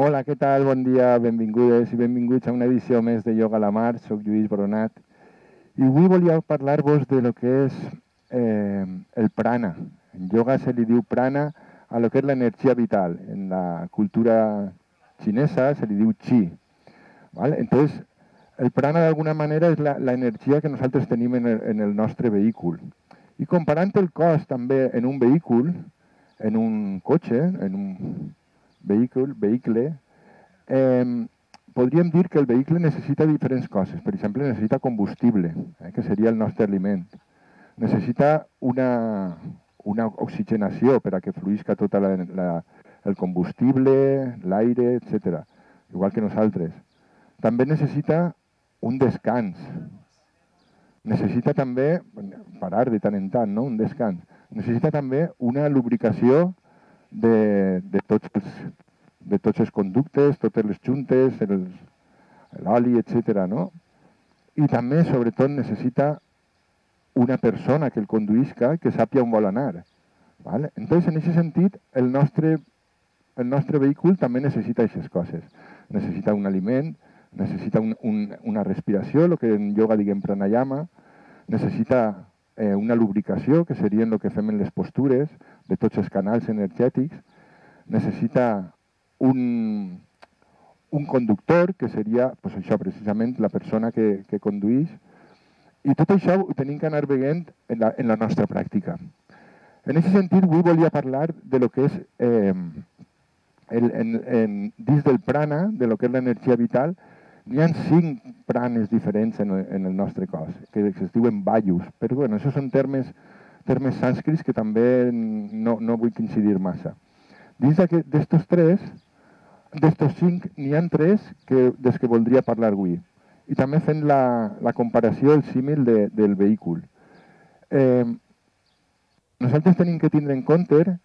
Hola, què tal? Bon dia, benvingudes i benvinguts a una edició més de Yoga a la Mar. Soc Lluís Bronat i avui volia parlar-vos de lo que és el prana. En yoga se li diu prana a lo que és l'energia vital. En la cultura xinesa se li diu chi. ¿Vale? Entonces, el prana d'alguna manera és la energia que nosaltres tenim en el nostre vehicle. I comparant el cos també en un vehicle, en un cotxe, en un vehicle, podríem dir que el vehicle necessita diferents coses. Per exemple, necessita combustible, que seria el nostre aliment. Necessita una oxigenació per a que fluïsca tot el combustible, l'aire, etc. Igual que nosaltres. També necessita un descans. Necessita també parar de tant en tant, no? Un descans. Necessita també una lubricació de tots els conductes, totes les juntes, l'oli, etc. No? I també, sobretot, necessita una persona que el conduïsca que sàpia on vol anar. ¿Vale? Entonces, en aquest sentit, el nostre vehicle també necessita aquestes coses. Necessita un aliment, necessita una respiració, el que en yoga diguem pranayama, necessita una lubricació, que serien el que fem en les postures de tots els canals energètics, necessita un conductor, que seria pues, això precisament la persona que conduïx, i tot això ho tenim que anar veient en la nostra pràctica. En aquest sentit, avui volia parlar de lo que és dins del prana, de lo que és l'energia vital. N'hi ha 5 pranes diferents en el nostre cos, que es diuen vayus, però bueno, això són termes sànscrits que també no vull incidir massa. Dins d'estos 5, n'hi ha 3 dels que voldria parlar avui. I també fent la comparació, el símil del vehicle. Nosaltres tenim que tindre en compte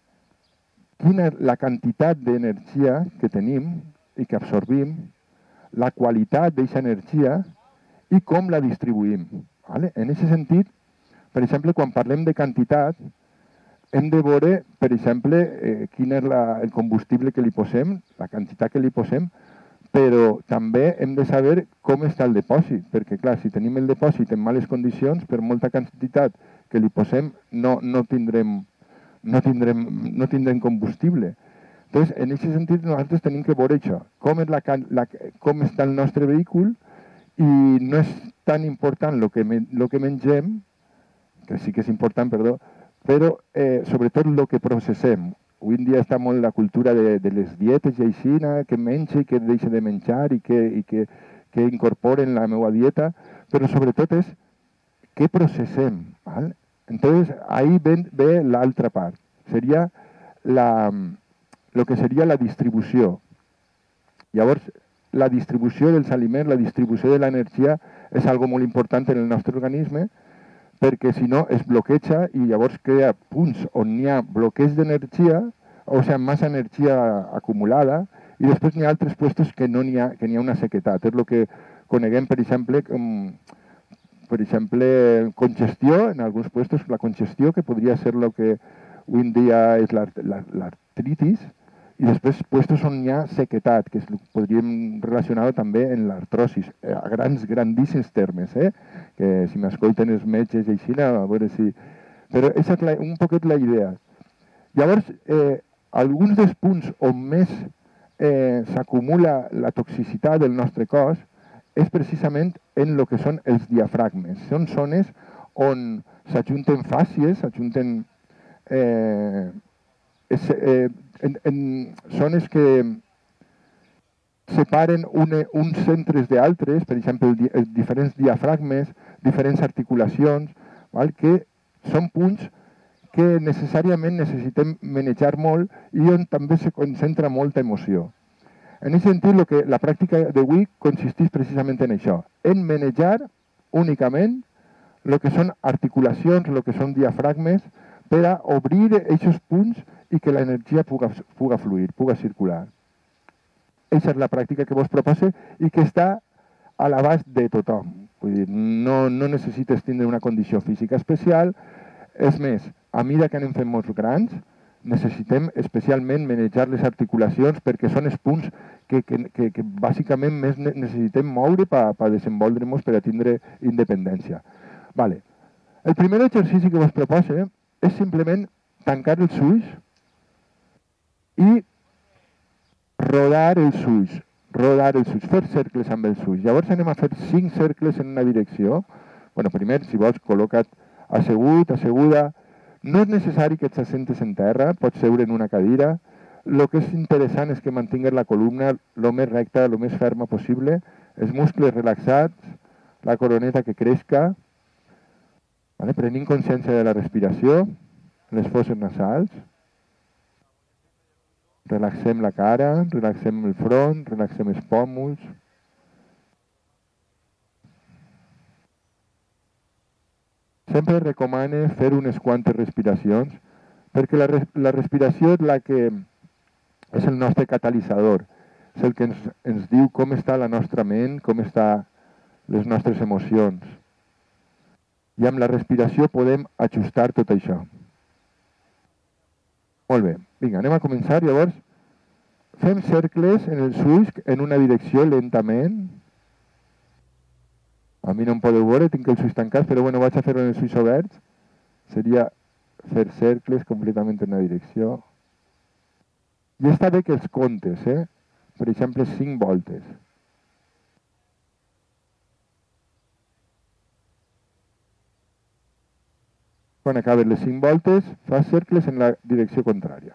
quina és la quantitat d'energia que tenim i que absorbim, la qualitat d'aquesta energia i com la distribuïm. ¿Vale? En aquest sentit, per exemple, quan parlem de quantitat, hem de veure, per exemple, quin és el combustible que li posem, la quantitat que li posem, però també hem de saber com està el dipòsit, perquè, clar, si tenim el dipòsit en males condicions, per molta quantitat que li posem, no tindrem combustible. Entonces, en aquest sentit, nosaltres tenim que veure això, com està el nostre vehicle, i no és tan important el que mengem, que sí que és important, perdó, però sobretot el que processem. Avui en dia està molt la cultura de les dietes i així, que menja i que deixa de menjar i que incorporen la meva dieta, però sobretot és què processem. ¿Vale? Entonces, ahí ve l'altra part. Seria el que seria la distribució. Llavors, la distribució dels aliments, la distribució de l'energia és algo molt important en el nostre organisme, perquè si no es bloqueja i llavors crea punts on hi ha bloqueig d'energia, o sigui, massa energia acumulada, i després n'hi ha altres puestos que n'hi ha una sequetat. És el que coneguem, per exemple, congestió, en alguns puestos la congestió, que podria ser el que avui en dia és l'artritis, i després puestos on hi ha sequetat, que podríem relacionar també en l'artrosis, a grandíssims termes, que si m'escolten els metges i així, a veure si... Però aquesta és un poquet la idea. Llavors, alguns dels punts on més s'acumula la toxicitat del nostre cos és precisament en el que són els diafragmes. Són zones on s'ajunten fàcies, s'ajunten zones que separen uns centres d'altres, per exemple, diferents diafragmes, diferents articulacions, que són punts que necessàriament necessitem manejar molt i on també se concentra molta emoció. En aquest sentit, la pràctica d'avui consisteix precisament en això, en manejar únicament el que són articulacions, el que són diafragmes, per a obrir aquests punts i que l'energia puga fluir, puga circular. Aquesta és la pràctica que vos propose i que està a l'abast de tothom. Vull dir, no necessites tindre una condició física especial. És més, a mesura que anem fent molts grans, necessitem especialment manejar les articulacions perquè són els punts que bàsicament més necessitem moure per desenvolupar-nos, per a tindre independència. Vale. El primer exercici que vos proposo és simplement tancar els ulls i rodar els ulls, fer cercles amb els ulls. Llavors anem a fer 5 cercles en una direcció. Bueno, primer, si vols, col·loca't assegut, asseguda. No és necessari que et sentes en terra, pots seure en una cadira. El que és interessant és que mantingues la columna el més recta, el més ferma possible, els muscles relaxats, la coroneta que creixca. Vale? Prenim consciència de la respiració, les fosses nasals. Relaxem la cara, relaxem el front, relaxem els pòmuls. Sempre recomano fer unes quantes respiracions, perquè la respiració és la que és el nostre catalitzador, és el que ens diu com està la nostra ment, com estan les nostres emocions. I amb la respiració podem ajustar tot això. Molt bé, vinga, anem a començar. Llavors, fem cercles en els ulls en una direcció lentament. A mi no em podeu veure, tinc els ulls tancats, però bueno, vaig a fer-ho en els ulls oberts. Seria fer cercles completament en una direcció. I està bé que els comptes, per exemple, 5 voltes. Quan acabes les 5 voltes, fas cercles en la direcció contrària.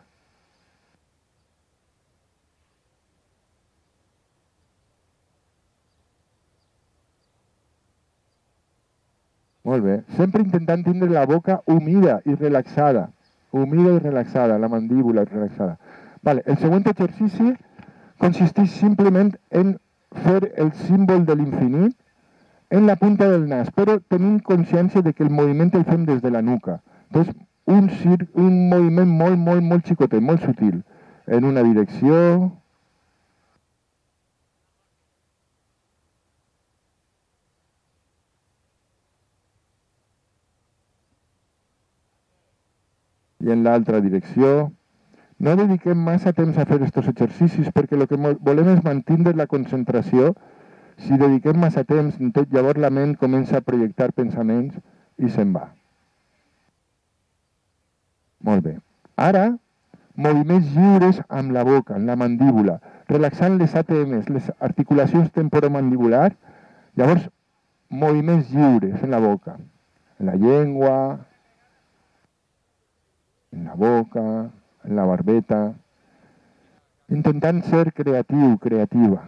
Molt bé. Sempre intentant tindre la boca humida i relaxada. Humida i relaxada, la mandíbula relaxada. Vale. El següent exercici consisteix simplement en fer el símbol de l'infinit en la punta del nas, però tenint consciència de que el moviment el fem des de la nuca. Entonces, un moviment molt xicotet, molt sutil, en una direcció. I en l'altra direcció. No dediquem massa temps a fer aquests exercicis perquè el que volem és mantenir la concentració. Si dediquem massa temps, llavors la ment comença a projectar pensaments i se'n va. Molt bé. Ara, moviments lliures amb la boca, amb la mandíbula, relaxant les ATMs, les articulacions temporomandibulars. Llavors, moviments lliures en la boca, en la llengua, en la boca, en la barbeta, intentant ser creatiu, creativa.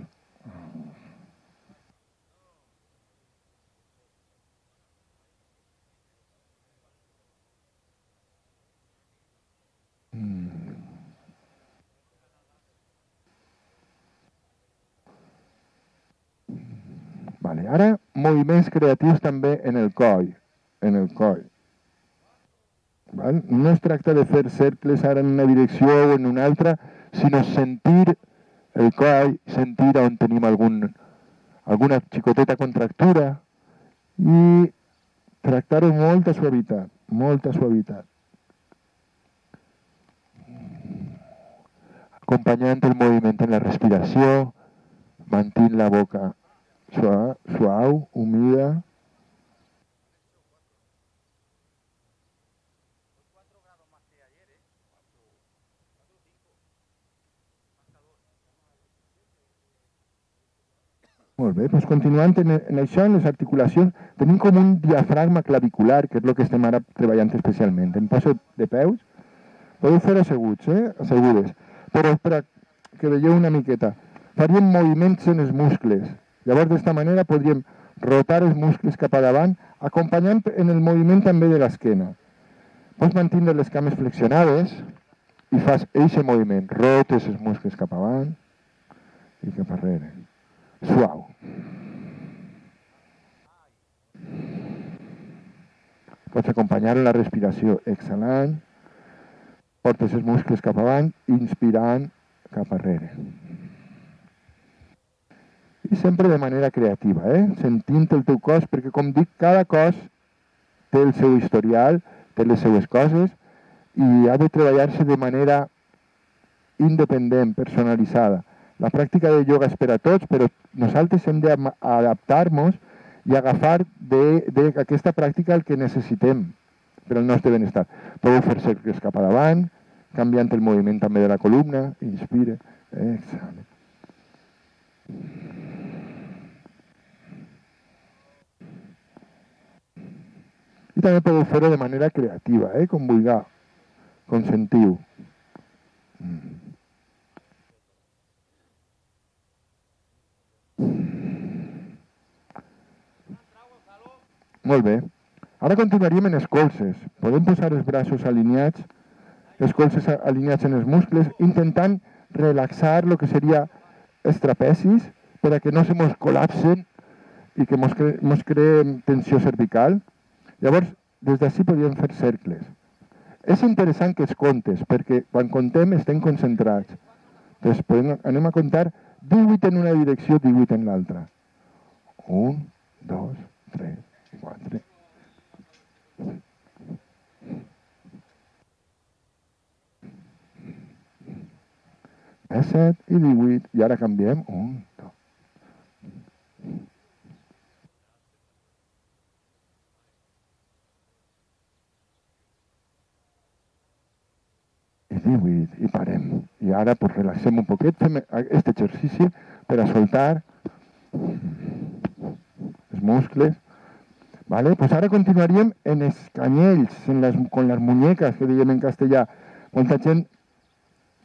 Vale. Ara, moviments creatius també en el coll. En el coll. Val? No es tracta de fer cercles ara en una direcció o en una altra, sinó sentir el coll, sentir on tenim alguna xicoteta contractura i tractar-ho amb molta suavitat, molta suavitat. Acompanyant el moviment en la respiració, mantint la boca suau, humida. Molt bé, doncs continuant en això, en les articulacions, tenim com un diafragma clavicular, que és el que estem ara treballant especialment. Em poso de peus, podeu fer asseguts, assegudes, però per que veieu una miqueta. Faríem moviments en els muscles. Llavors, d'esta manera, podríem rotar els muscles cap a davant, acompanyant en el moviment també de l'esquena. Pots mantenir les cames flexionades i fas aquest moviment. Rotes els muscles cap avant i cap arrere. Suau. Pots acompanyar la respiració exhalant, portes els muscles cap avant, inspirant cap arrere. I sempre de manera creativa, sentint el teu cos, perquè com dic, cada cos té el seu historial, té les seues coses, i ha de treballar-se de manera independent, personalitzada. La pràctica de ioga és per a tots, però nosaltres hem d'adaptar-nos i agafar d'aquesta pràctica el que necessitem per al nostre benestar. Podeu fer cercles cap a davant, canviant el moviment també de la columna, inspire, exhale. I també podeu fer-ho de manera creativa, com vulgueu, com sentiu. Molt bé. Ara continuaríem en els colzes. Podem posar els braços alineats, els colzes alineats en els muscles, intentant relaxar el que seria els trapecis per a que no se mos col·lapsen i que mos creen tensió cervical. Llavors, des d'ací podríem fer cercles. És interessant que es comptes, perquè quan contem estem concentrats. Doncs anem a comptar 18 en una direcció, 18 en l'altra. 1, 2, 3, 4... És 7 i 18, i ara canviem 1, 2. I 18, i parem. I ara pues, relaxem un poquet, fem aquest exercici per a soltar els muscles. ¿Vale? Pues ara continuaríem en els canyells, con les muñeques, que diem en castellà. Molta gent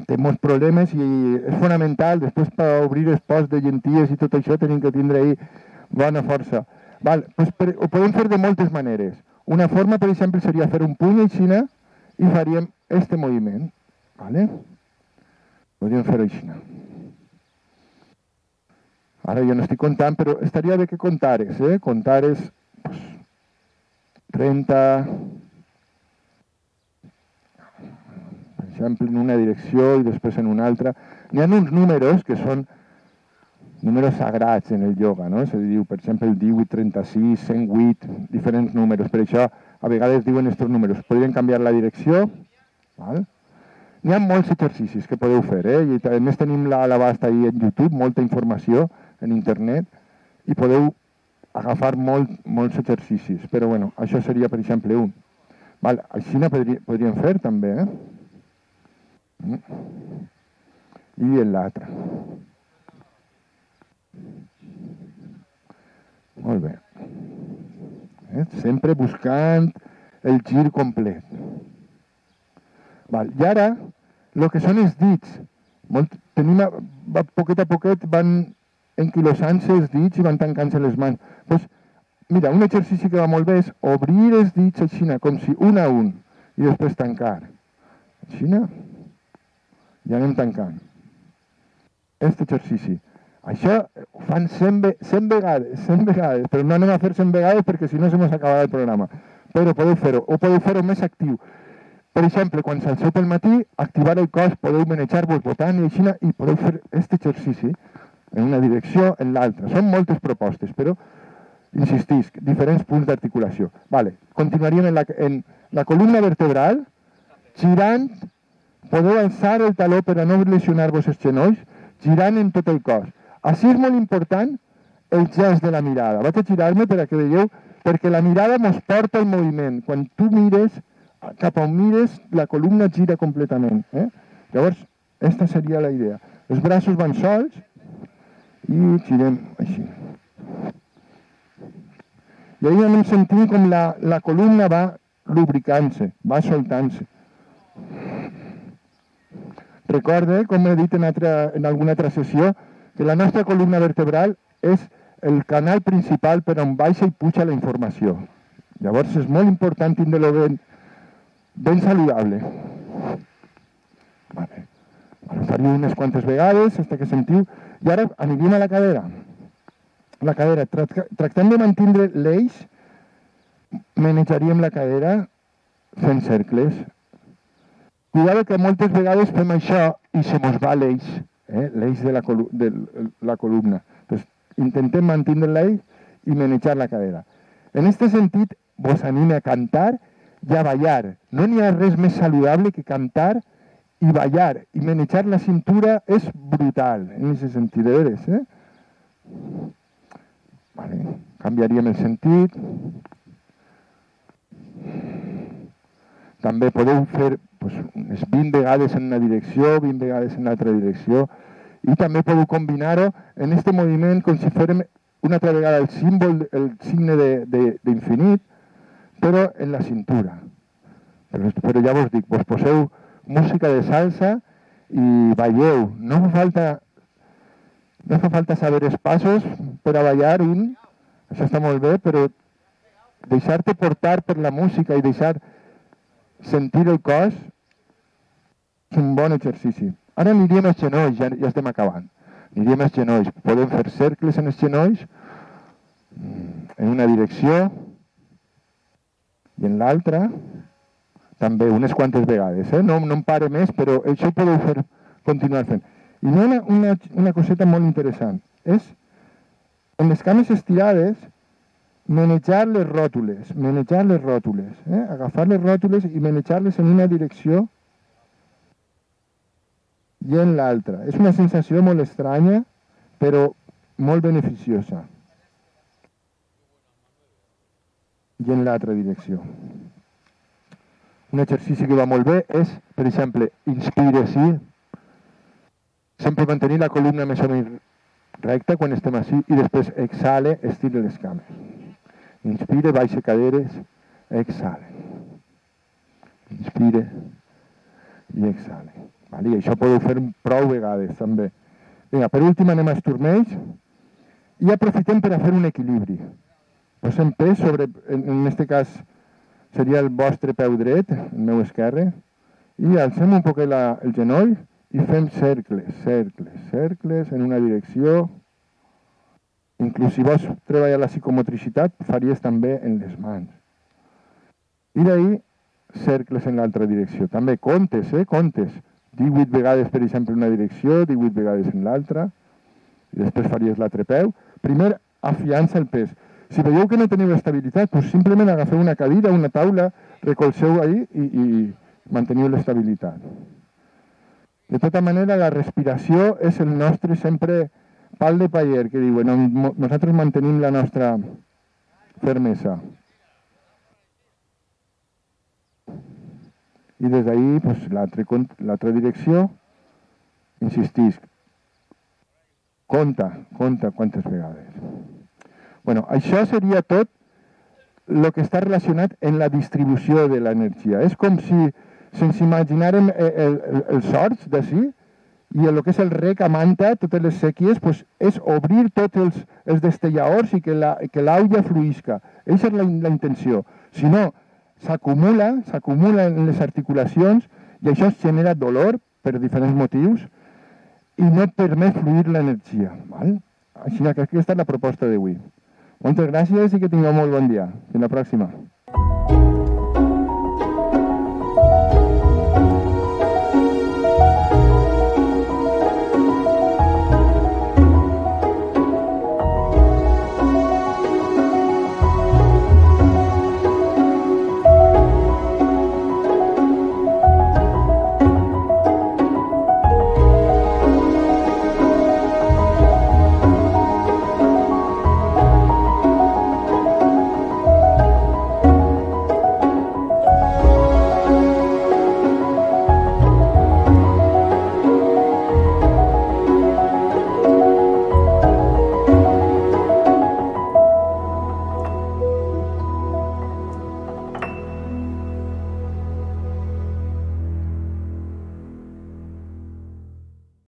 té molts problemes i és fonamental, després per obrir els pots de llenties i tot això tenim que tindre ahí bona força. Val, pues ho podem fer de moltes maneres. Una forma, per exemple, seria fer un puny així i faríem este moviment. Vale? Podríem fer així. Ara jo no estic comptant, però estaria bé que contares, Contares pues, 30... Per exemple, en una direcció i després en una altra. N'hi ha uns números que són números sagrats en el ioga, no? Se diu, per exemple, el 18, 36, 108, diferents números. Per això, a vegades diuen aquests números. Podríem canviar la direcció. Val? N'hi ha molts exercicis que podeu fer, I a més tenim a l'abast ahí en YouTube, molta informació en internet, i podeu agafar molts exercicis. Però, bueno, això seria, per exemple, un. Val? Així podríem fer, també, I en l'altre. Molt bé. Sempre buscant el gir complet. Val. I ara, el que són els dits. Poquet a poquet van enquilosant-se els dits i van tancant-se les mans. Pues, mira, un exercici que va molt bé és obrir els dits així, com si un a un, i després tancar. Així, i anem tancant. Aquest exercici. Això ho fan 100 vegades, però no anem a fer 100 vegades perquè si no se mos acabarà el programa. Però podeu fer-ho, o podeu fer-ho més actiu. Per exemple, quan s'alceu pel matí, activar el cos, podeu manejar-vos botant i així, i podeu fer aquest exercici en una direcció, en l'altra. Són moltes propostes, però, insistisc, diferents punts d'articulació. Vale. Continuaríem en la columna vertebral, girant. Podeu alçar el taló per a no lesionar-vos els genolls, girant en tot el cos. Així és molt important el gest de la mirada. Vaig a girar-me per a que veieu, perquè la mirada mos porta el moviment. Quan tu mires, cap on mires, la columna gira completament. Llavors, aquesta seria la idea. Els braços van sols i girem així. I ahir anem sentint com la columna va lubricant-se, va soltant-se. Recorda, com he dit en alguna altra sessió, que la nostra columna vertebral és el canal principal per on baixa i puja la informació. Llavors és molt important tindre-lo ben saludable. Vale. Ho faríeu unes quantes vegades, fins que sentiu. I ara anirem a la cadera. La cadera. Tractem de mantenir l'eix, manejaríem la cadera fent cercles. Cuidado que moltes vegades fem això i se mos va l'eix, l'eix de la columna. Pues intentem mantenir l'eix i manejar la cadera. En aquest sentit, vos anime a cantar i a ballar. No n'hi ha res més saludable que cantar i ballar. I manejar la cintura és brutal, en aquest sentit, de veres. Vale. Canviaríem el sentit. També podeu fer unes 20 vegades en una direcció, 20 vegades en l'altra direcció, i també podeu combinar-ho en aquest moviment com si férem una altra vegada el signe d'infinit, però en la cintura. Però ja vos dic, vos poseu música de salsa i balleu. No fa falta saber els passos per a ballar un, això està molt bé, però deixar-te portar per la música i deixar sentir el cos és un bon exercici. Ara aniríem als genolls, ja estem acabant. Aniríem als genolls. Podem fer cercles en els genolls, en una direcció i en l'altra, també unes quantes vegades. No em pare més, però això ho podeu fer, continuar fent. I hi ha una coseta molt interessant. És, en les cames estirades, manejar les ròtules. Agafar les ròtules i manejar-les en una direcció i en l'altra. És una sensació molt estranya, però molt beneficiosa. I en l'altra direcció. Un exercici que va molt bé és, per exemple, inspire així, sempre mantenir la columna més o menys recta quan estem així i després exhale, estire les cames. Inspire, baixe caderes, exhale. Inspire i exhale. I això podeu fer prou vegades també. Vinga, per últim anem als turmells i aprofitem per a fer un equilibri. Posem pes sobre, en aquest cas seria el vostre peu dret, el meu esquerre, i alcem un poc el genoll i fem cercles en una direcció. Inclús si vols treballar la psicomotricitat, faries també en les mans. I d'ahir, cercles en l'altra direcció. També comptes, comptes. 18 vegades, per exemple, en una direcció, 18 vegades en l'altra, i després faries l'altre peu. Primer, afiança el pes. Si veieu que no teniu estabilitat, doncs simplement agafeu una cadira, una taula, recolzeu ahí i manteniu l'estabilitat. De tota manera, la respiració és el nostre sempre pal de paller, que diuen, nosaltres mantenim la nostra fermesa. I des d'ahir, l'altra direcció, insistisc, compta quantes vegades. Això seria tot el que està relacionat en la distribució de l'energia. És com si ens imaginàrem els horts d'ací i el que és el rec a manta, totes les sèquies, és obrir tots els destellaors i que l'aigua fluïsca. Aquesta és la intenció. Si no, s'acumula en les articulacions i això genera dolor per diferents motius i no permet fluir l'energia. Així que aquesta és la proposta d'avui. Moltes gràcies i que tingueu molt bon dia. Fins la pròxima.